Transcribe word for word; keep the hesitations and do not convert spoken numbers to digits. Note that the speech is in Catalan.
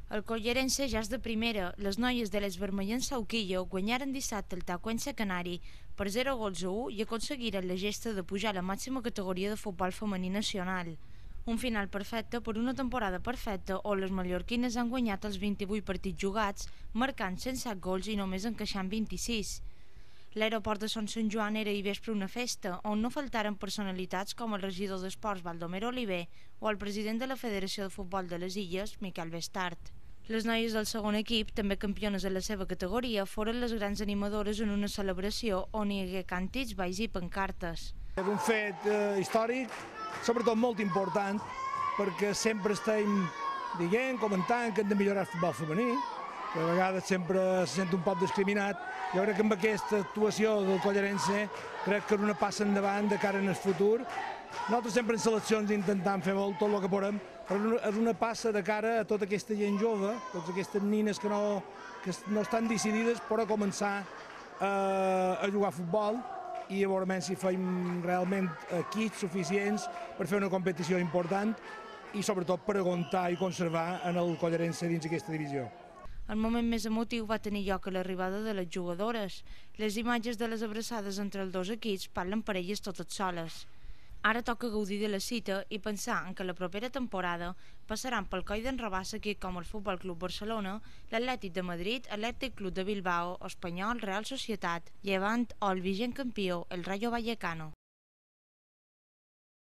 El Collerense ja és de primera. Les noies de les vermellens Sauquillo guanyaren dissabte el Tacuense Canari per zero gols a u i aconseguiren la gesta de pujar a la màxima categoria de futbol femení nacional. Un final perfecte per una temporada perfecta on les mallorquines han guanyat els vint-i-vuit partits jugats, marcant cent set gols i només encaixant vint-i-sis. L'aeroport de Son Sant Joan era ahir vespre una festa, on no faltaren personalitats com el regidor d'Esports Baldomero Oliver o el president de la Federació de Futbol de les Illes, Miquel Bestart. Les noies del segon equip, també campiones en la seva categoria, foren les grans animadores en una celebració on hi hagué càntics, balls i pancartes. És un fet eh, històric, sobretot molt important, perquè sempre estem dient, comentant que hem de millorar el futbol femení, que a vegades sempre se sent un poc discriminat. Jo crec que amb aquesta actuació del Collerense crec que és una passa endavant de cara en el futur. Nosaltres sempre en seleccions intentem fer molt tot el que podem, però és una passa de cara a tota aquesta gent jove, totes aquestes nines que no, que no estan decidides per a començar a, a jugar a futbol i a veure si fem realment equips suficients per fer una competició important i sobretot per aguantar i conservar en el Collerense dins aquesta divisió. El moment més emotiu va tenir lloc a l'arribada de les jugadores. Les imatges de les abraçades entre els dos equips parlen per elles totes soles. Ara toca gaudir de la cita i pensar en que la propera temporada passaran pel coll d'en Rabassa equips com el Futbol Club Barcelona, l'Atlètic de Madrid, l'Atlètic Club de Bilbao, Espanyol, Real Societat, Llevant o el vigent campió, el Rayo Vallecano.